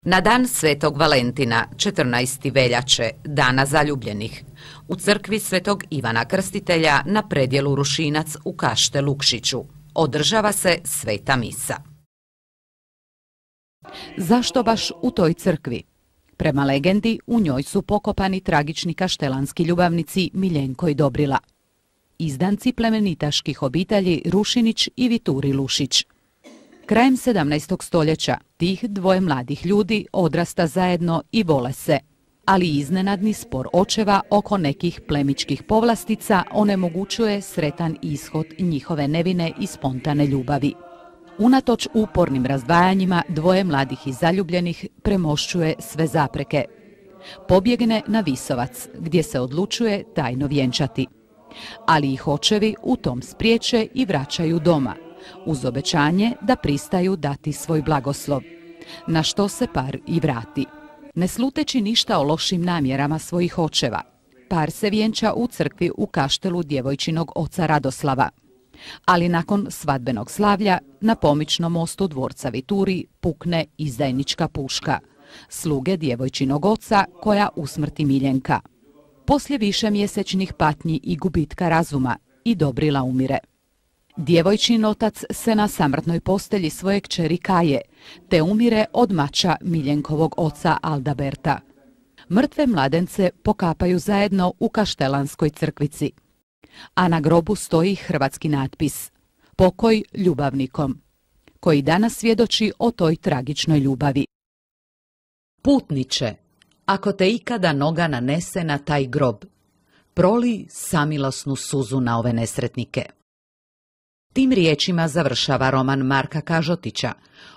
Na dan Svetog Valentina, 14. veljače, dana zaljubljenih, u crkvi Svetog Ivana Krstitelja na predjelu Rušinac u Kašte Lukšiću održava se sveta misa. Zašto baš u toj crkvi? Prema legendi, u njoj su pokopani tragični kaštelanski ljubavnici Miljenko i Dobrila, izdanci plemenitaških obitelji Rušinić i Vituri Lušić. Krajem 17. stoljeća tih dvoje mladih ljudi odrasta zajedno i vole se, ali iznenadni spor očeva oko nekih plemičkih povlastica onemogućuje sretan ishod njihove nevine i spontane ljubavi. Unatoč upornim razdvajanjima, dvoje mladih i zaljubljenih premošćuje sve zapreke. Pobjegne na Visovac, gdje se odlučuje tajno vjenčati. Ali ih očevi u tom spriječe i vraćaju doma, uz obećanje da pristaju dati svoj blagoslov, na što se par i vrati. Ne sluteći ništa o lošim namjerama svojih očeva, par se vjenča u crkvi u kaštelu djevojčinog oca Radoslava. Ali nakon svadbenog slavlja na pomičnom mostu dvorca Vituri pukne izdajnička puška, sluge djevojčinog oca koja usmrti Miljenka. Poslije višemjesečnih patnji i gubitka razuma i Dobrila umire. Djevojčin otac se na samrtnoj postelji svoje kćeri kaje, te umire od mača Miljenkovog oca Aldaberta. Mrtve mladence pokapaju zajedno u kaštelanskoj crkvici, a na grobu stoji hrvatski natpis "Pokoj ljubavnikom", koji danas svjedoči o toj tragičnoj ljubavi. Putniče, ako te ikada noga nanese na taj grob, proli samilosnu suzu na ove nesretnike. Tim riječima završava roman Marka Kažotića,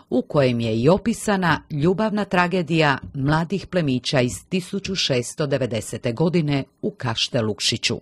u kojem je i opisana ljubavna tragedija mladih plemića iz 1690. godine u Kašte Lukšiću.